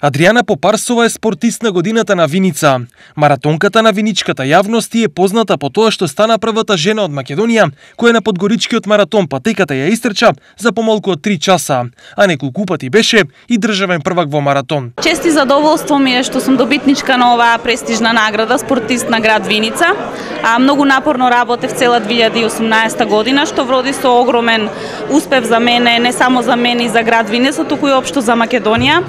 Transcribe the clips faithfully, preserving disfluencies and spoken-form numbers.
Адријана Попарсова е спортист на годината на Виница. Маратонката на виничката јавност е позната по тоа што стана првата жена од Македонија која на подгоричкиот маратон патеката ја истрча за помалку од три часа, а неколку пати беше и државен првак во маратон. Чест и задоволство ми е што сум добитничка на оваа престижна награда, спортист на град Виница. А, многу напорно работев цела две илјади и осумнаесета година, што вроди со огромен успех за мене, не само за мене и за град Виница, туку и општо за Македонија.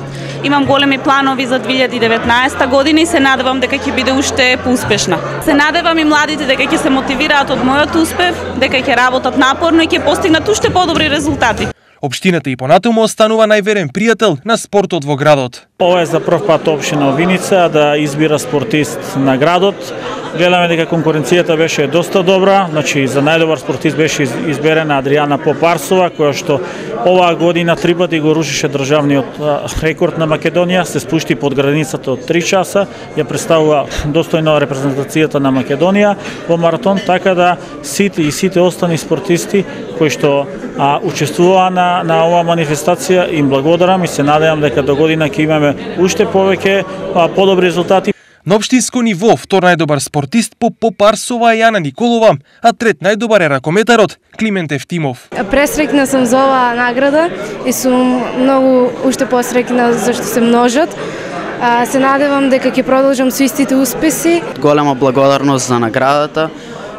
Имам големи планови за две илјади и деветнаесета година и се надевам дека ќе биде уште поуспешна. Се надевам и младите дека ќе се мотивираат од мојот успех, дека ќе работат напорно и ќе постигнат уште подобри резултати. Општината и понатаму останува најверен пријател на спортот во градот. Ова е за прв пат општина Виница да избира спортист на градот. Гледаме дека конкуренцијата беше доста добра, значи за најдобар спортист беше изберена Адријана Попарсова, која што оваа година три пати го рушише државниот рекорд на Македонија, се спушти под границата од три часа, ја представува достојно репрезентацијата на Македонија во маратон, така да сите и сите остани спортисти кои што а, учествуваа на, на оваа манифестација им благодарам и се надевам дека до година ќе имаме уште повеќе а, подобри резултати. На општинско ниво, втор најдобар спортист по Попарсова е Јана Николова, а трет најдобар е ракометарот Климент Евтимов. Пресрекна сум за оваа награда и сум многу уште посрекна зашто се множат. Се надевам дека ќе продолжам со истите успеси. Голема благодарност за наградата.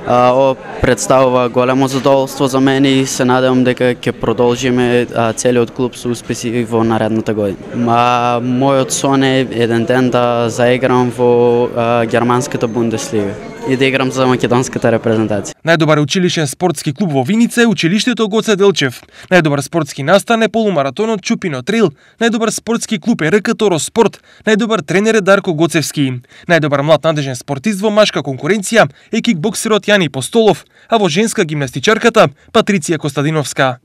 Ова представува големо задоволство за мене и се надевам дека ќе продолжиме целиот клуб со успеси во наредната година. А, мојот сон е еден ден да заиграм во а, германската Бундеслига и да играм за македонската репрезентација. Најдобар училишен спортски клуб во Виница е училиштето Гоце Делчев. Најдобар спортски настан е полумаратонот Чупино Трейл. Најдобар спортски клуб е РК Торо Спорт. Најдобар тренер е Дарко Гоцевски. Најдобар млад надежен спортист во машка конкуренција е кикбоксерот Јани Постолов, а во женска гимнастичарката Патриција Костадиновска.